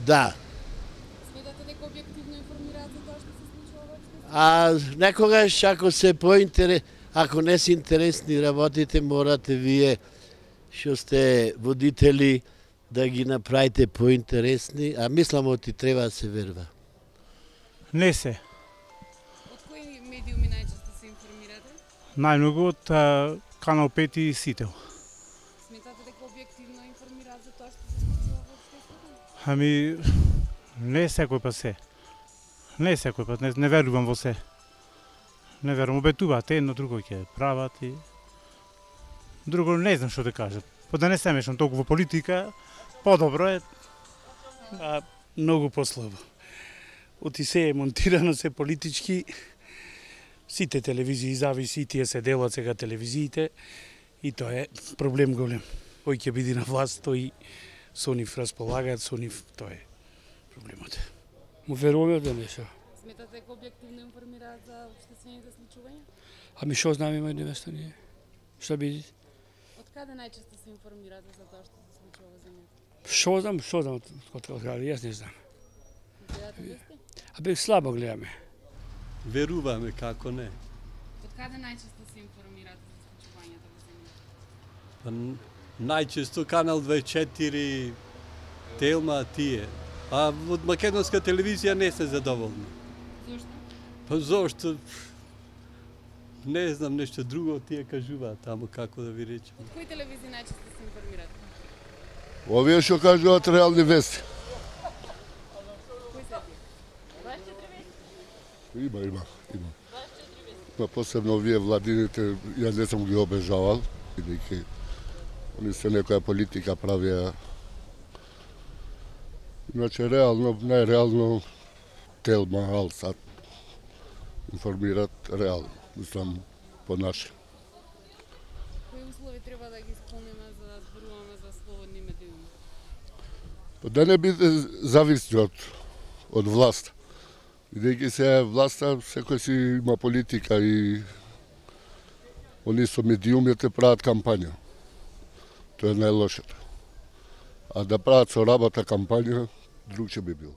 Да. Сметате дека објективно информираат за тоа што се случува во општеството? А некогаш ако не се интересни работите, морате вие што сте водители да ги направите поинтересни, а мислам оти треба да се верва. Не се. Од кои медиуми најчесто се информирате? Најмногу од Канал 5 и Сител. Сметате дека објективно информираат за тоа што се случува во општеството? Ами, не секој пат се. Не секој пат, не верувам во се. Не верувам, обетуваат едно, друго ќе прават и... Друго не знам што да кажат. Да не се мешам толку во политика, подобро е, а многу послабо. Оти се е монтирано, се политички, сите телевизии зависи, и тие се делат сега телевизиите, и тоа е проблем голем. Кој ќе биде на власт, тој со нив располагаат, со нив, тоа е проблемот. Му веруваме да нешто. Сметате дека објективно информираат за општествените случувања? Ами што знаме мој невеста ние? Што биде? Од каде најчесто се информирате за тоа што се случува во земјата? Што знам, од каде, јас не знам. Гледате вести? Абе слабо гледаме. Веруваме, како не. Од каде најчесто се информирате за случувањата во земјата? Па, најчесто Канал 24, Телма, тие. А од македонска телевизија не се задоволни. Зошто? Па зошто? Не знам, нешто друго тие кажуваат таму, како да ви речем. Од кои телевизии најчесто се информирате? Овие што кажуваат реални вести. Кои се тие? 24 вести? Има. 24 вести? Но посебно овие владините, јас не сум ги обежавал, бидејќи они се некоја политика правија. Иначе реално, најреално Телма, Алсат информираат реално, мислам по наше. Кои услови треба да ги исполниме за да зборуваме за слободни медиуми? Да не биде зависни од власт. Бидејќи се власта, секој си има политика и они со медиумите прават кампања. Тоа е најлошето. А да прават со работа кампања, друг ќе би бил.